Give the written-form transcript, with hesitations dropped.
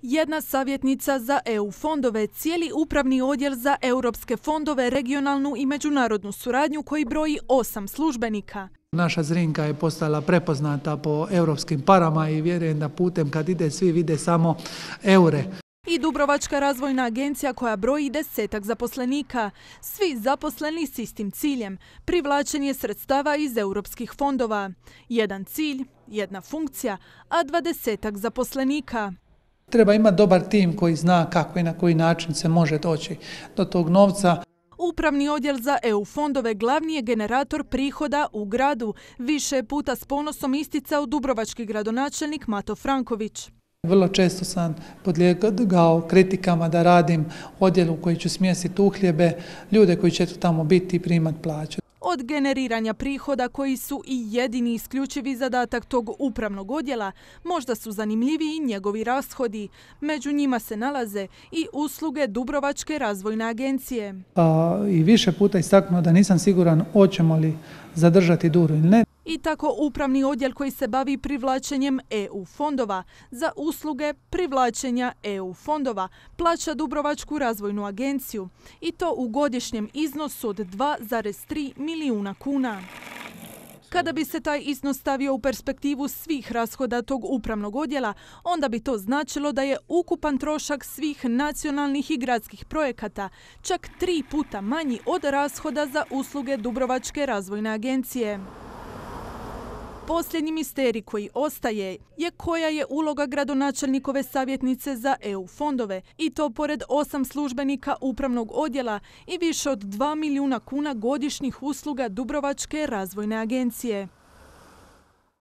Jedna savjetnica za EU fondove, cijeli upravni odjel za europske fondove, regionalnu i međunarodnu suradnju koji broji 8 službenika. Naša Zrinka je postala prepoznata po europskim parama i vjerujem da putem kad ide svi vide samo eure. I Dubrovačka razvojna agencija koja broji 10 zaposlenika. Svi zaposleni s istim ciljem, privlačenje sredstava iz europskih fondova. Jedan cilj, jedna funkcija, a 20 zaposlenika. Treba imati dobar tim koji zna kako i na koji način se može doći do tog novca. Upravni odjel za EU fondove glavni je generator prihoda u gradu, više puta s ponosom isticao dubrovački gradonačelnik Mato Franković. Vrlo često sam podlijegao kritikama da radim odjelu u koji ću smjestiti uhljebe, ljude koji će tamo biti i primati plaće. Od generiranja prihoda koji su i jedini isključivi zadatak tog upravnog odjela, možda su zanimljiviji njegovi rashodi. Među njima se nalaze i usluge Dubrovačke razvojne agencije. I više puta istaknuo da nisam siguran hoćemo li zadržati Duru ili ne. I tako upravni odjel koji se bavi privlačenjem EU fondova za usluge privlačenja EU fondova plaća Dubrovačku razvojnu agenciju i to u godišnjem iznosu od 2,3 milijuna kuna. Kada bi se taj iznos stavio u perspektivu svih rashoda tog upravnog odjela, onda bi to značilo da je ukupan trošak svih nacionalnih i gradskih projekata čak 3 puta manji od rashoda za usluge Dubrovačke razvojne agencije. Posljednji misterij koji ostaje je koja je uloga gradonačelnikove savjetnice za EU fondove i to pored 8 službenika upravnog odjela i više od 2 milijuna kuna godišnjih usluga Dubrovačke razvojne agencije.